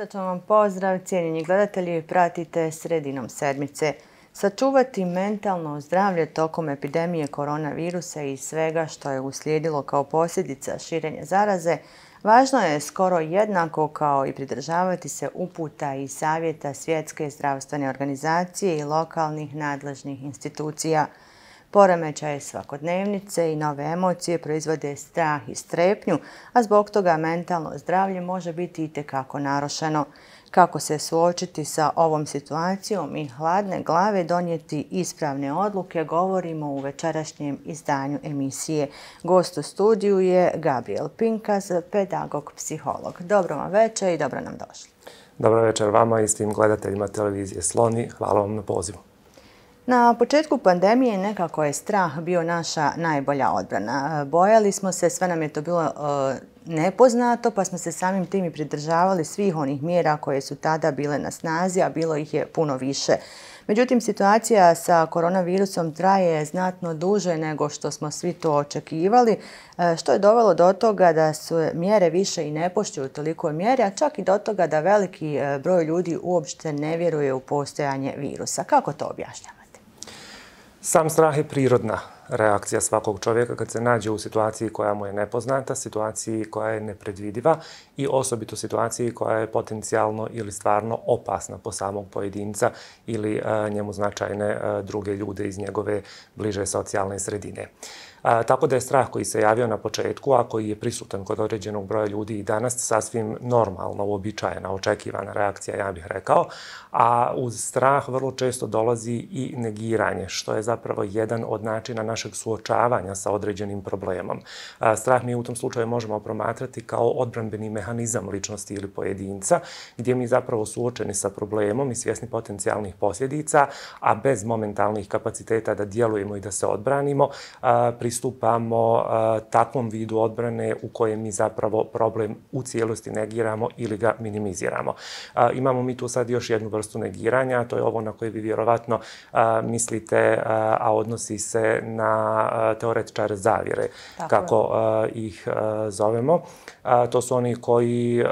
Srdačan vam pozdrav, cijenjeni gledatelji, pratite Sredinom sedmice. Sačuvati mentalno zdravlje tokom epidemije koronavirusa i svega što je uslijedilo kao posljedica širenja zaraze, važno je skoro jednako kao i pridržavati se uputa i savjeta Svjetske zdravstvene organizacije i lokalnih nadležnih institucija. Poremećaje svakodnevnice i nove emocije proizvode strah i strepnju, a zbog toga mentalno zdravlje može biti itekako narušeno. Kako se suočiti sa ovom situacijom i hladne glave donijeti ispravne odluke, govorimo u večerašnjem izdanju emisije. Gost u studiju je Gabriel Pinkas, pedagog, psiholog. Dobro vam večer i dobro nam došli. Dobro večer vama i svim gledateljima televizije Sloni. Hvala vam na pozivu. Na početku pandemije nekako je strah bio naša najbolja odbrana. Bojali smo se, sve nam je to bilo nepoznato, pa smo se samim tim i pridržavali svih onih mjera koje su tada bile na snazi, a bilo ih je puno više. Međutim, situacija sa koronavirusom traje znatno duže nego što smo svi to očekivali, što je dovelo do toga da su mjere više i ne poštuju toliko mjere, a čak i do toga da veliki broj ljudi uopšte ne vjeruje u postojanje virusa. Kako to objašnjavate? Sam strah je prirodna reakcija svakog čovjeka kad se nađe u situaciji koja mu je nepoznata, situaciji koja je nepredvidiva i osobito situaciji koja je potencijalno ili stvarno opasna po samog pojedinca ili njemu značajne druge ljude iz njegove bliže socijalne sredine. Tako da je strah koji se javio na početku, a koji je prisutan kod određenog broja ljudi i danas, sasvim normalna, uobičajena, očekivana reakcija, ja bih rekao. A uz strah vrlo često dolazi i negiranje, što je zapravo jedan od načina našeg suočavanja sa određenim problemom. Strah mi u tom slučaju možemo promatrati kao odbranbeni mehanizam ličnosti ili pojedinca, gdje mi zapravo suočeni sa problemom i svjesni potencijalnih posljedica, a bez momentalnih kapaciteta da djelujemo i da se odbranimo, pristupamo takvom vidu odbrane u kojem mi zapravo problem u cijelosti negiramo ili ga minimiziramo. Imamo mi tu sad još jednu vrstu negiranja, a to je ovo na koje vi vjerovatno mislite, a odnosi se na teoretičare zavjere, kako ih zovemo. To su oni koji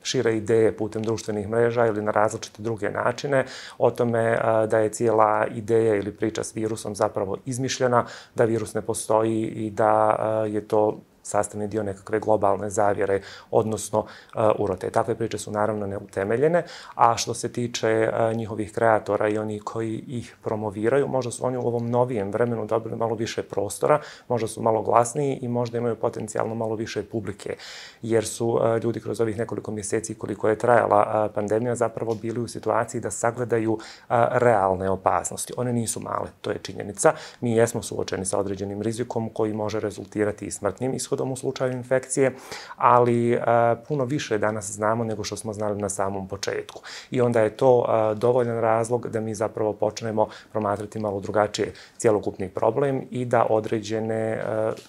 šire ideje putem društvenih mreža ili na različite druge načine o tome da je cijela ideja ili priča s virusom zapravo izmišljena, da virus ne postoji i da je to sastavni dio nekakve globalne zavjere, odnosno urote. Takve priče su naravno neutemeljene, a što se tiče njihovih kreatora i oni koji ih promoviraju, možda su oni u ovom novijem vremenu dobili malo više prostora, možda su malo glasniji i možda imaju potencijalno malo više publike, jer su ljudi kroz ovih nekoliko mjeseci koliko je trajala pandemija zapravo bili u situaciji da sagledaju realne opasnosti. One nisu male, to je činjenica. Mi jesmo suočeni sa određenim rizikom koji može rezultirati i smrtnim ishodom u slučaju infekcije, ali puno više danas znamo nego što smo znali na samom početku. I onda je to dovoljan razlog da mi zapravo počnemo promatrati malo drugačije cjelokupni problem i da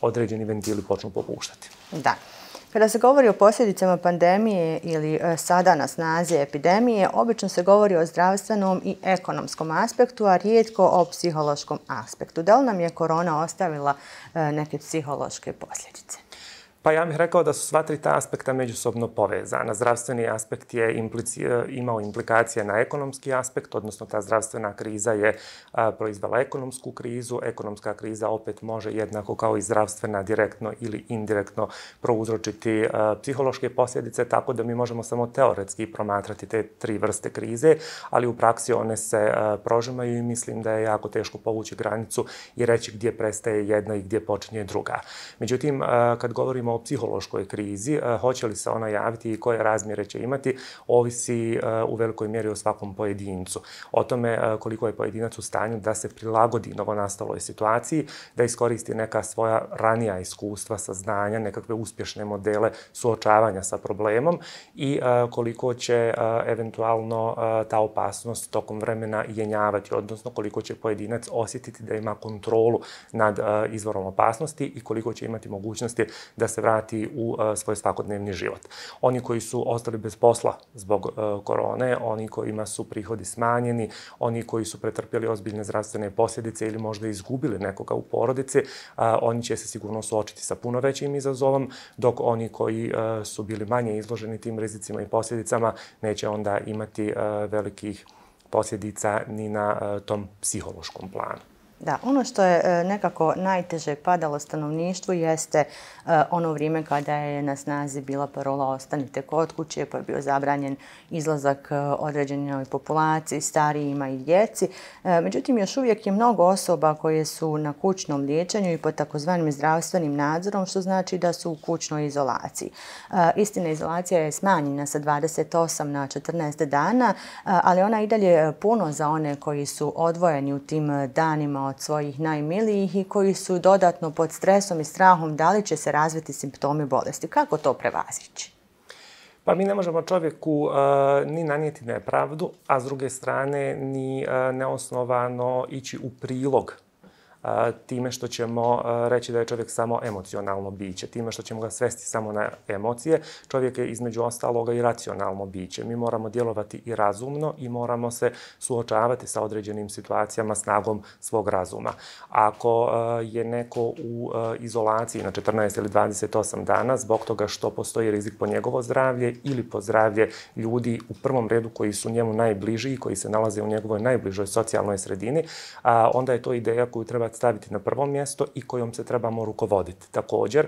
određeni ventili počnu popuštati. Da. Kada se govori o posljedicama pandemije ili sada na snazi epidemije, obično se govori o zdravstvenom i ekonomskom aspektu, a rijetko o psihološkom aspektu. Da li nam je korona ostavila neke psihološke posljedice? Pa ja bih rekao da su sva tri ta aspekta međusobno povezana. Zdravstveni aspekt je imao implikacije na ekonomski aspekt, odnosno ta zdravstvena kriza je proizvela ekonomsku krizu. Ekonomska kriza opet može jednako kao i zdravstvena direktno ili indirektno prouzročiti psihološke posljedice, tako da mi možemo samo teoretski promatrati te tri vrste krize, ali u praksi one se prožimaju i mislim da je jako teško povući granicu i reći gdje prestaje jedna i gdje počinje druga. Međutim, kad govorimo o psihološkoj krizi, hoće li se ona javiti i koje razmjere će imati, ovisi u velikoj mjeri o svakom pojedincu. O tome koliko je pojedinac u stanju da se prilagodi novonastaloj situaciji, da iskoristi neka svoja ranija iskustva, saznanja, nekakve uspješne modele suočavanja sa problemom i koliko će eventualno ta opasnost tokom vremena jenjavati, odnosno koliko će pojedinac osjetiti da ima kontrolu nad izvorom opasnosti i koliko će imati mogućnosti da se vrati u svoj svakodnevni život. Oni koji su ostali bez posla zbog korone, oni kojima su prihodi smanjeni, oni koji su pretrpjeli ozbiljne zdravstvene posljedice ili možda izgubili nekoga u porodici, oni će se sigurno suočiti sa puno većim izazovom, dok oni koji su bili manje izloženi tim rizicima i posljedicama neće onda imati velikih posljedica ni na tom psihološkom planu. Da, ono što je nekako najteže padalo stanovništvu jeste ono vrijeme kada je na snazi bila parola ostanite kod kuće, pa je bio zabranjen izlazak određenoj populaciji, starijima i djeci. Međutim, još uvijek je mnogo osoba koje su na kućnom liječenju i pod takozvanim zdravstvenim nadzorom, što znači da su u kućnoj izolaciji. Istina, izolacija je smanjena sa 28 na 14 dana, ali ona i dalje puno za one koji su odvojeni u tim danima od svojih najmilijih i koji su dodatno pod stresom i strahom da li će se razviti simptomi bolesti. Kako to prevazići? Pa mi ne možemo čovjeku ni nanijeti nepravdu, a s druge strane ni neosnovano ići u prilog time što ćemo reći da je čovjek samo emocionalno biće, time što ćemo ga svesti samo na emocije. Čovjek je između ostaloga i racionalno biće. Mi moramo djelovati i razumno i moramo se suočavati sa određenim situacijama snagom svog razuma. Ako je neko u izolaciji na 14 ili 28 dana zbog toga što postoji rizik po njegovo zdravlje ili po zdravlje ljudi u prvom redu koji su njemu najbliži i koji se nalaze u njegovoj najbližoj socijalnoj sredini, onda je to ideja koju treba staviti na prvo mjesto i kojom se trebamo rukovoditi. Također,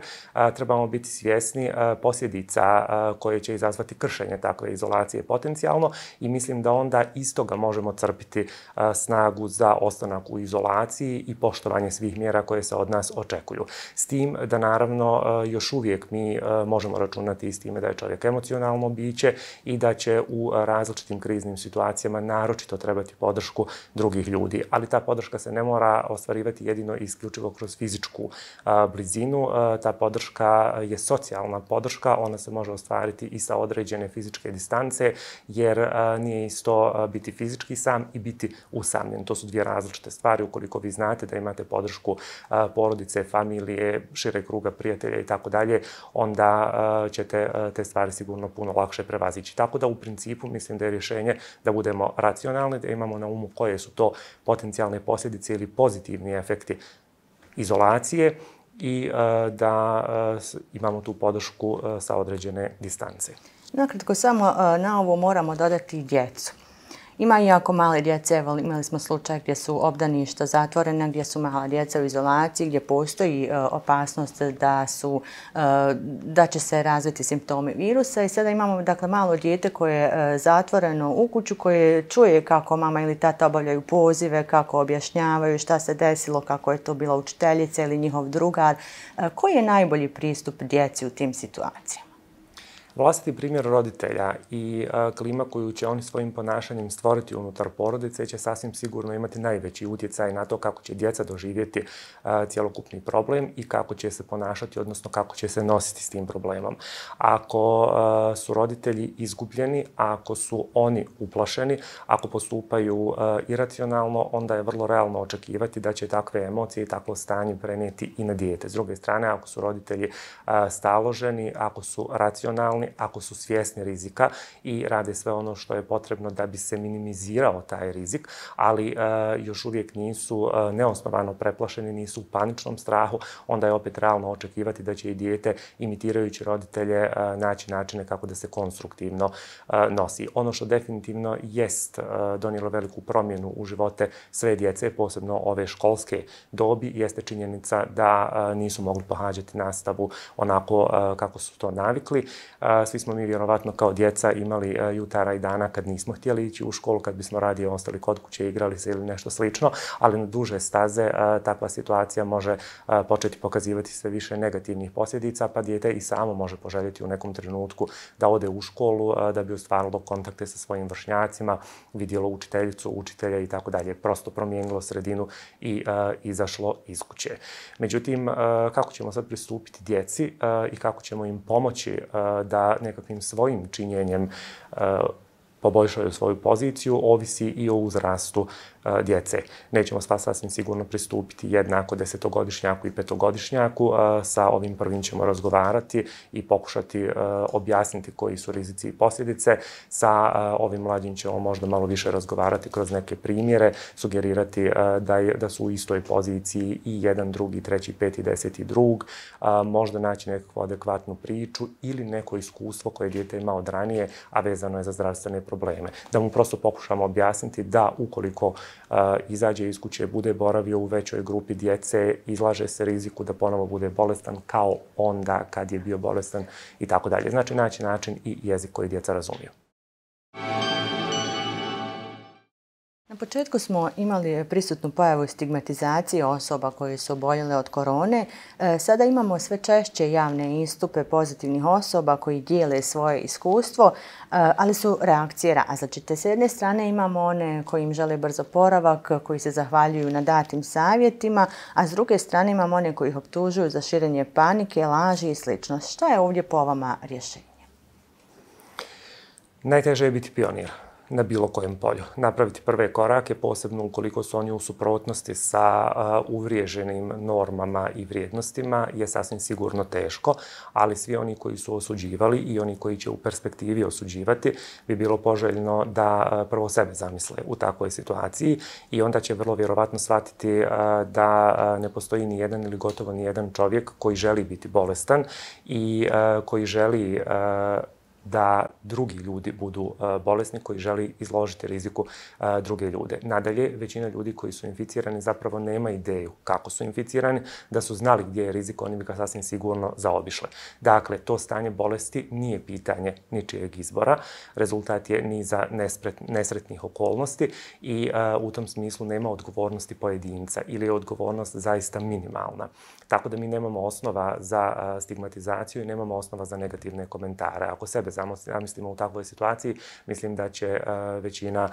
trebamo biti svjesni posljedica koje će izazvati kršenje takve izolacije potencijalno i mislim da onda iz toga možemo crpiti snagu za ostanak u izolaciji i poštovanje svih mjera koje se od nas očekuju. S tim da naravno još uvijek mi možemo računati s time da je čovjek emocionalno biće i da će u različitim kriznim situacijama naročito trebati podršku drugih ljudi. Ali ta podrška se ne mora ostvarivati jedino i isključivo kroz fizičku blizinu. Ta podrška je socijalna podrška, ona se može ostvariti i sa određene fizičke distance, jer nije isto biti fizički sam i biti usamljen. To su dvije različite stvari. Ukoliko vi znate da imate podršku porodice, familije, šire kruga prijatelja i tako dalje, onda ćete te stvari sigurno puno lakše prevazići. Tako da u principu mislim da je rješenje da budemo racionalni, da imamo na umu koje su to potencijalne posljedice ili pozitivni efekti izolacije i da imamo tu podršku sa određene distance. Nakratko samo na ovo moramo dodati djecu. Ima i jako male djece, imali smo slučaj gdje su obdaništa zatvorena, gdje su mala djeca u izolaciji, gdje postoji opasnost da će se razviti simptomi virusa i sada imamo dakle malo dijete koje je zatvoreno u kuću, koje čuje kako mama ili tata obavljaju pozive, kako objašnjavaju šta se desilo, kako je to bila učiteljica ili njihov drugar. Koji je najbolji pristup djeci u tim situacijama? Vlastiti primjer roditelja i klima koju će oni svojim ponašanjem stvoriti unutar porodice će sasvim sigurno imati najveći utjecaj na to kako će djeca doživjeti cjelokupni problem i kako će se ponašati, odnosno kako će se nositi s tim problemom. Ako su roditelji izgubljeni, ako su oni uplašeni, ako postupaju iracionalno, onda je vrlo realno očekivati da će takve emocije i takvo stanje prenijeti i na dijete. S druge strane, ako su roditelji staloženi, ako su racionalni, ako su svjesni rizika i rade sve ono što je potrebno da bi se minimizirao taj rizik, ali još uvijek nisu neosnovano preplašeni, nisu u paničnom strahu, onda je opet realno očekivati da će i dijete, imitirajući roditelje, naći načine kako da se konstruktivno nosi. Ono što definitivno jest donijelo veliku promjenu u živote sve djece, posebno ove školske dobi, jeste činjenica da nisu mogli pohađati nastavu onako kako su to navikli. Svi smo mi vjerovatno kao djeca imali jutara i dana kad nismo htjeli ići u školu, kad bismo radije ostali kod kuće, igrali se ili nešto slično, ali na duže staze takva situacija može početi pokazivati sve više negativnih posljedica, pa dijete i samo može poželjeti u nekom trenutku da ode u školu, da bi ostvarilo kontakte sa svojim vršnjacima, vidjelo učiteljicu, učitelja i tako dalje. Prosto promijenilo sredinu i izašlo iz kuće. Međutim, kako ćemo sad pristupiti djeci i kako ćemo im pomoći da nekakvim svojim činjenjem poboljšaju svoju poziciju, ovisi i o uzrastu djece. Nećemo sasvim sigurno pristupiti jednako 10-godišnjaku i 5-godišnjaku. Sa ovim prvim ćemo razgovarati i pokušati objasniti koji su rizici i posljedice. Sa ovim mlađim ćemo možda malo više razgovarati kroz neke primjere, sugerirati da su u istoj poziciji i jedan, drugi, treći, peti, 10. drug, možda naći nekakvu adekvatnu priču ili neko iskustvo koje dijete ima od ranije, a vezano je za zdravstvene probleme. Da mu prosto pokušamo objasniti da ukoliko izađe iz kuće, bude boravio u većoj grupi djece, izlaže se riziku da ponovo bude bolestan kao onda kad je bio bolestan i tako dalje. Znači naći način i jezik koji djeca razumiju. Na početku smo imali prisutnu pojavu stigmatizacije osoba koje su oboljele od korone. Sada imamo sve češće javne istupe pozitivnih osoba koji dijele svoje iskustvo, ali su reakcije različite. S jedne strane imamo one koji im žele brzo oporavak, koji se zahvaljuju na datim savjetima, a s druge strane imamo one koji ih optužuju za širenje panike, laži i sl. Šta je ovdje po vama rješenje? Najteže je biti pionir na bilo kojem polju. Napraviti prve korake, posebno ukoliko su oni u suprotnosti sa uvriježenim normama i vrijednostima, je sasvim sigurno teško, ali svi oni koji su osuđivali i oni koji će u perspektivi osuđivati, bi bilo poželjno da prvo sebe zamisle u takvoj situaciji i onda će vrlo vjerovatno shvatiti da ne postoji ni jedan ili gotovo ni jedan čovjek koji želi biti bolestan i koji želi da drugi ljudi budu bolesni, koji želi izložiti riziku druge ljude. Nadalje, većina ljudi koji su inficirani zapravo nema ideju kako su inficirani, da su znali gdje je rizik, oni bi ga sasvim sigurno zaobišli. Dakle, to stanje bolesti nije pitanje ničijeg izbora, rezultat je niza nesretnih okolnosti i u tom smislu nema odgovornosti pojedinca ili je odgovornost zaista minimalna. Tako da mi nemamo osnova za stigmatizaciju i nemamo osnova za negativne komentare. Ako sebe zamislimo u takvoj situaciji, mislim da će većina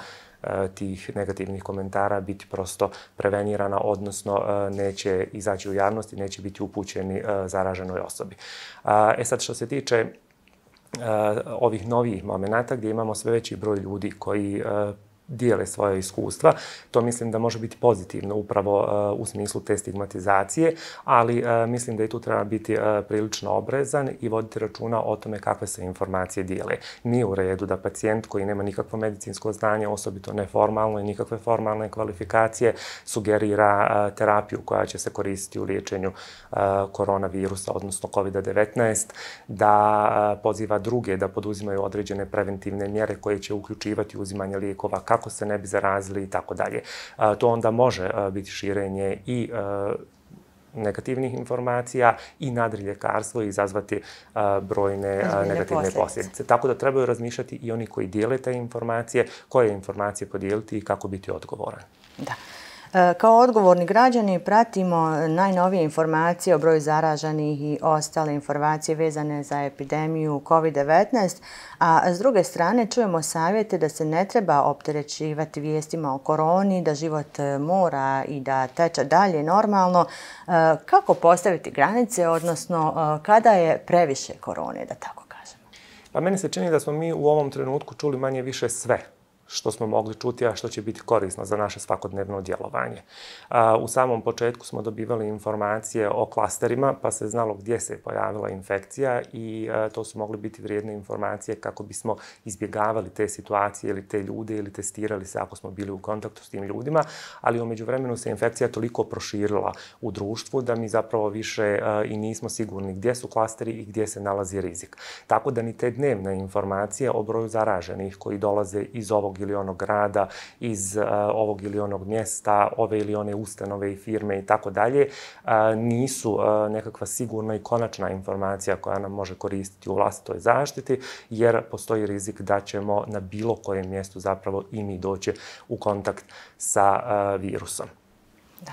tih negativnih komentara biti prosto prevenirana, odnosno neće izaći u javnost i neće biti upućeni zaraženoj osobi. Sad, što se tiče ovih novih momenata gdje imamo sve veći broj ljudi koji dijele svoje iskustva. To mislim da može biti pozitivno upravo u smislu te stigmatizacije, ali mislim da i tu treba biti prilično oprezan i voditi računa o tome kakve se informacije dijele. Nije u redu da pacijent koji nema nikakvo medicinsko znanje, osobito neformalno i nikakve formalne kvalifikacije, sugerira terapiju koja će se koristiti u liječenju koronavirusa, odnosno COVID-19, da poziva druge da poduzimaju određene preventivne mjere koje će uključivati uzimanje lijekova kako se ne bi zarazili i tako dalje. To onda može biti širenje i negativnih informacija i nadriljekarstvo i izazvati brojne negativne posljedice. Tako da trebaju razmišljati i oni koji dijele te informacije, koje informacije podijeliti i kako biti odgovoran. Da. Kao odgovorni građani pratimo najnovije informacije o broju zaraženih i ostale informacije vezane za epidemiju COVID-19, a s druge strane čujemo savjete da se ne treba opterećivati vijestima o koroni, da život mora i da teče dalje normalno. Kako postaviti granice, odnosno kada je previše korone, da tako kažemo? Pa meni se čini da smo mi u ovom trenutku čuli manje više sve što smo mogli čuti, a što će biti korisno za naše svakodnevno djelovanje. U samom početku smo dobivali informacije o klasterima, pa se znalo gdje se pojavila infekcija i to su mogli biti vrijedne informacije kako bismo izbjegavali te situacije ili te ljude ili testirali se ako smo bili u kontaktu s tim ljudima, ali u međuvremenu se infekcija toliko proširila u društvu da mi zapravo više i nismo sigurni gdje su klasteri i gdje se nalazi rizik. Tako da ni te dnevne informacije o broju zaraženih koji dolaze iz ovog ili onog grada, iz ovog ili onog mjesta, ove ili one ustanove i firme i tako dalje, nisu nekakva sigurna i konačna informacija koja nam može koristiti u vlastitoj zaštiti, jer postoji rizik da ćemo na bilo kojem mjestu zapravo i mi doći u kontakt sa virusom. Da.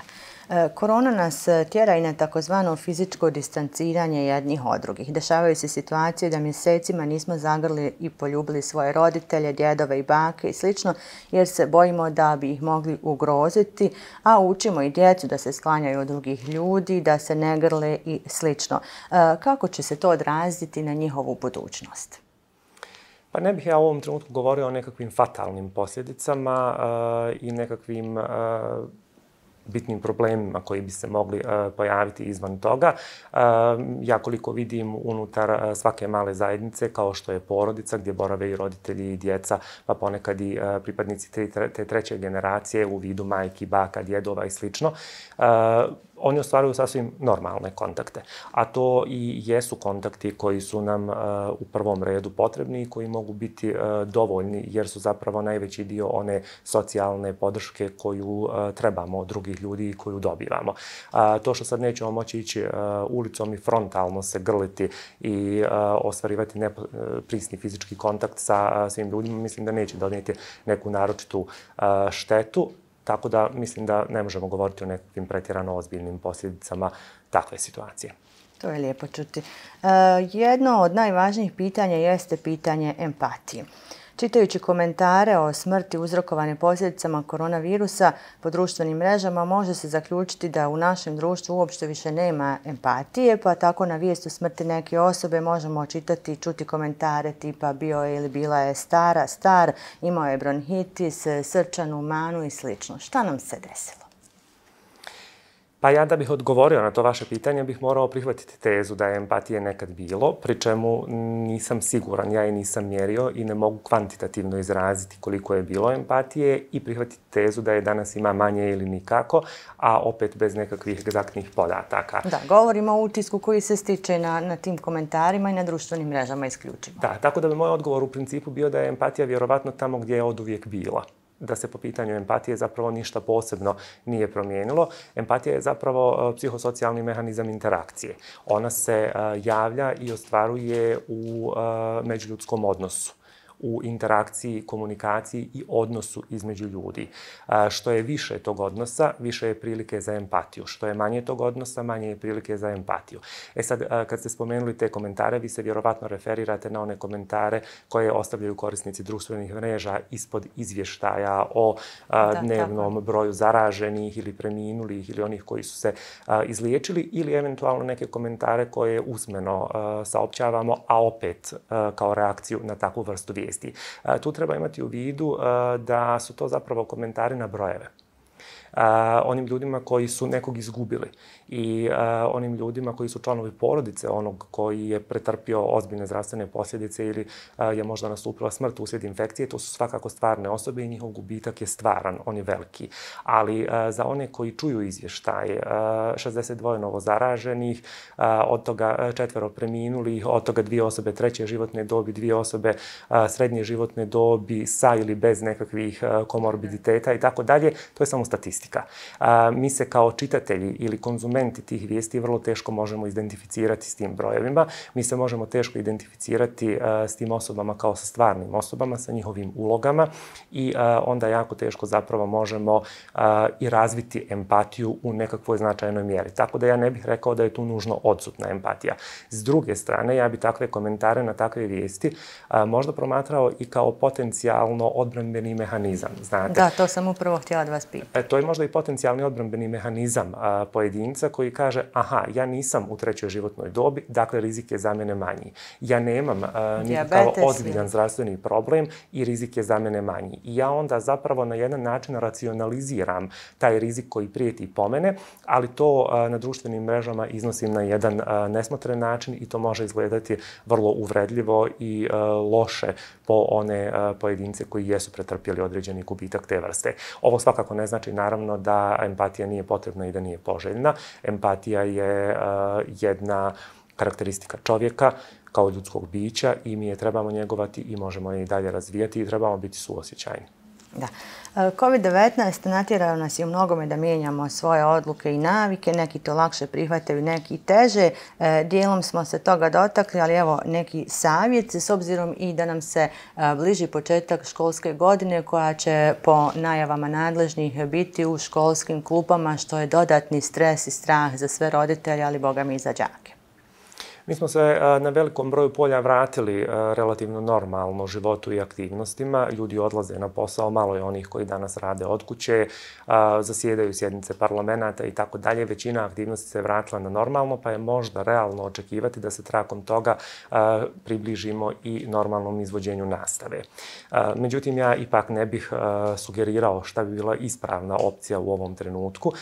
Korona nas tjera i na takozvano fizičko distanciranje jednih od drugih. Dešavaju se situacije da mjesecima nismo zagrli i poljubili svoje roditelje, djedove i bake i slično, jer se bojimo da bi ih mogli ugroziti, a učimo i djecu da se sklanjaju od drugih ljudi, da se ne grle i slično. Kako će se to odraziti na njihovu budućnost? Pa ne bih ja u ovom trenutku govorio o nekakvim fatalnim posljedicama i nekakvim bitnim problemima koji bi se mogli pojaviti izvan toga. Ja koliko vidim unutar svake male zajednice, kao što je porodica, gdje borave i roditelji i djeca, pa ponekad i pripadnici te treće generacije u vidu majki, baka, djedova i slično, oni ostvaruju sasvim normalne kontakte. A to i jesu kontakti koji su nam u prvom redu potrebni i koji mogu biti dovoljni, jer su zapravo najveći dio one socijalne podrške koju trebamo od drugih ljudi i koju dobivamo. To što sad nećemo moći ići ulicom i frontalno se grliti i ostvarivati prisni fizički kontakt sa svim ljudima, mislim da neće donijeti neku naročitu štetu. Tako da mislim da ne možemo govoriti o nekakvim pretjerano ozbiljnim posljedicama takve situacije. To je lijepo čuti. Jedno od najvažnijih pitanja jeste pitanje empatije. Čitajući komentare o smrti uzrokovane posljedicama koronavirusa po društvenim mrežama, može se zaključiti da u našem društvu uopšte više nema empatije, pa tako na vijest o smrti neke osobe možemo čitati i čuti komentare tipa bio je ili bila je star, imao je bronhitis, srčanu manu i sl. Šta nam se desilo? Pa ja da bih odgovorio na to vaše pitanje bih morao prihvatiti tezu da je empatije nekad bilo, pri čemu nisam siguran, ja je nisam mjerio i ne mogu kvantitativno izraziti koliko je bilo empatije i prihvatiti tezu da je danas ima manje ili nikako, a opet bez nekakvih egzaktnih podataka. Da, govorimo o utisku koji se stiče na tim komentarima i na društvenim mrežama isključivo. Da, tako da bi moj odgovor u principu bio da je empatija vjerovatno tamo gdje je oduvijek bila. Da se po pitanju empatije zapravo ništa posebno nije promijenilo. Empatija je zapravo psihosocijalni mehanizam interakcije. Ona se javlja i ostvaruje u međuljudskom odnosu, u interakciji, komunikaciji i odnosu između ljudi. Što je više tog odnosa, više je prilike za empatiju. Što je manje tog odnosa, manje je prilike za empatiju. E sad, kad ste spomenuli te komentare, vi se vjerovatno referirate na one komentare koje ostavljaju korisnici društvenih mreža ispod izvještaja o dnevnom broju zaraženih ili preminulih ili onih koji su se izliječili ili eventualno neke komentare koje usmeno saopćavamo, a opet kao reakciju na takvu vrstu vijesti. Tu treba imati u vidu da su to zapravo komentari na brojeve. Onim ljudima koji su nekog izgubili i onim ljudima koji su članovi porodice onog koji je pretrpio ozbiljne zdravstvene posljedice ili je možda nastupila smrt uslijed infekcije, to su svakako stvarne osobe i njihov gubitak je stvaran, on je veliki. Ali za one koji čuju izvještaje, 62 novozaraženih, od toga 4 preminulih, od toga 2 osobe treće životne dobi, 2 osobe srednje životne dobi sa ili bez nekakvih komorbiditeta i tako dalje, to je samo statistika. Mi se kao čitatelji ili konzumenti tih vijesti vrlo teško možemo identificirati s tim brojevima. Mi se možemo teško identificirati s tim osobama kao sa stvarnim osobama, sa njihovim ulogama i onda jako teško zapravo možemo i razviti empatiju u nekakvoj značajnoj mjeri. Tako da ja ne bih rekao da je tu nužno odsutna empatija. S druge strane, ja bi takve komentare na takve vijesti možda promatrao i kao potencijalno odbrambeni mehanizam. Znate? Da, to sam upravo htjela da vas pitati. To je možda i potencijalni odbrambeni mehanizam pojedinca koji kaže, aha, ja nisam u trećoj životnoj dobi, dakle rizik je za mene manji. Ja nemam nikakav ozbiljan zdravstveni problem i rizik je za mene manji. I ja onda zapravo na jedan način racionaliziram taj rizik koji prijeti po mene, ali to na društvenim mrežama iznosim na jedan nesmotren način i to može izgledati vrlo uvredljivo i loše po one pojedince koji jesu pretrpjeli određeni gubitak te vrste. Ovo svakako ne znači naravno da empatija nije potrebna i da nije poželjna. Empatija je jedna karakteristika čovjeka kao ljudskog bića i mi je trebamo njegovati i možemo je i dalje razvijati i trebamo biti suosjećajni. Da. COVID-19 natjerao nas je u mnogome da mijenjamo svoje odluke i navike, neki to lakše prihvataju, neki teže. Dijelom smo se toga dotakli, ali evo neki savjet s obzirom i da nam se bliži početak školske godine koja će po najavama nadležnih biti u školskim klupama, što je dodatni stres i strah za sve roditelje, ali boga mi i za đake. Mi smo se na velikom broju polja vratili relativno normalno životu i aktivnostima. Ljudi odlaze na posao, malo je onih koji danas rade od kuće, zasjedaju sjednice parlamenta i tako dalje. Većina aktivnosti se vratila na normalno, pa je možda realno očekivati da se trakom toga približimo i normalnom izvođenju nastave. Međutim, ja ipak ne bih sugerirao šta bi bila ispravna opcija u ovom trenutku.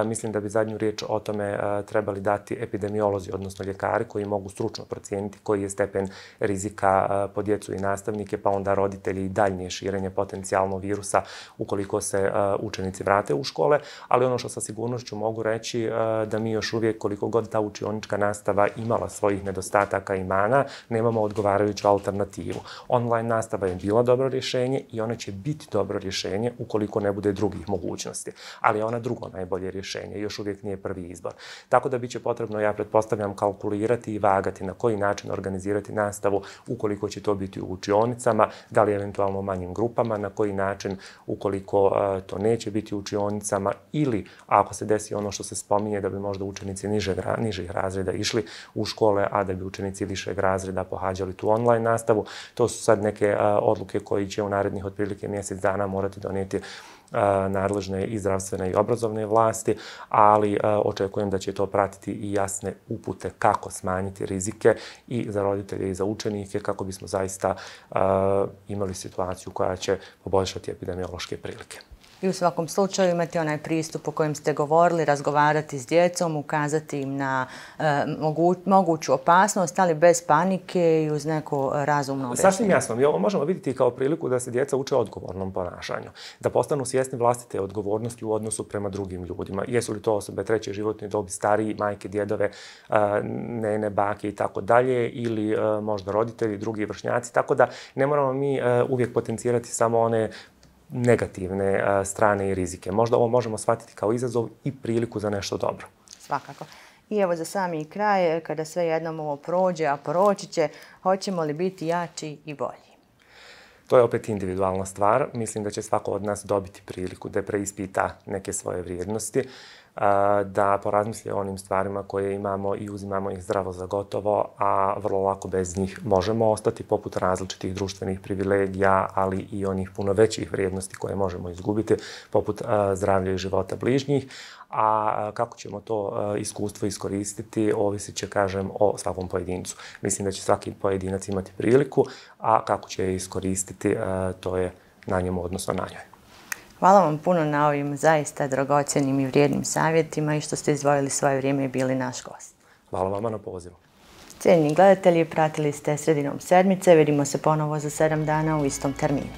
Mislim da bi zadnju riječ o tome trebali dati epidemiolozi, odnosno ljekari koji mogu stručno procijeniti koji je stepen rizika po djecu i nastavnike, pa onda roditelji i daljnje širenje potencijalno virusa ukoliko se učenici vrate u škole. Ali ono što sa sigurnošću mogu reći da mi još uvijek, koliko god ta učionička nastava imala svojih nedostataka i mana, nemamo odgovarajuću alternativu. Online nastava je bila dobro rješenje i ona će biti dobro rješenje ukoliko ne bude drugih mogućnosti. Ali je ona drugo najbolje rješenje, još uvijek nije prvi izbor. Tako da biće potrebno, ja pretpostavljam, kalkulirati i vagati na koji način organizirati nastavu ukoliko će to biti u učionicama, da li eventualno u manjim grupama, na koji način ukoliko to neće biti u učionicama ili ako se desi ono što se spominje da bi možda učenici nižih razreda išli u škole, a da bi učenici višeg razreda pohađali tu online nastavu. To su sad neke odluke koji će u narednih otprilike mjesec dana morati donijeti nadležne i zdravstvene i obrazovne vlasti, ali očekujem da će to pratiti i jasne upute kako smanjiti rizike i za roditelje i za učenike kako bismo zaista imali situaciju koja će poboljšati epidemiološke prilike. I u svakom slučaju imati onaj pristup o kojem ste govorili, razgovarati s djecom, ukazati im na moguću opasnost, ali bez panike i uz neko razumno objašnjenje. Sasvim jasno. Mi ovo možemo vidjeti kao priliku da se djeca uče odgovornom ponašanju, da postanu svjesni vlastite odgovornosti u odnosu prema drugim ljudima. Jesu li to osobe treće životne dobi, stariji, majke, djedove, nene, bake i tako dalje, ili možda roditelji, drugi vršnjaci. Tako da ne moramo mi uvijek potencirati samo one negativne strane i rizike. Možda ovo možemo shvatiti kao izazov i priliku za nešto dobro. Svakako. I evo za sami kraj, kada sve jednom ovo prođe, a proći će, hoćemo li biti jači i bolji? To je opet individualna stvar. Mislim da će svako od nas dobiti priliku da preispita neke svoje vrijednosti, da porazmisli o onim stvarima koje imamo i uzimamo ih zdravo za gotovo, a vrlo lako bez njih možemo ostati, poput različitih društvenih privilegija, ali i onih puno većih vrijednosti koje možemo izgubiti, poput zdravlja i života bližnjih. A kako ćemo to iskustvo iskoristiti, ovisit će, kažem, o svakom pojedincu. Mislim da će svaki pojedinac imati priliku, a kako će je iskoristiti, to je na njemu, odnosno na njoj. Hvala vam puno na ovim zaista dragocjenim i vrijednim savjetima i što ste izdvojili svoje vrijeme i bili naš gost. Hvala vama na pozivu. Cijenjeni gledatelji, pratili ste Sredinom sedmice. Vidimo se ponovo za 7 dana u istom terminu.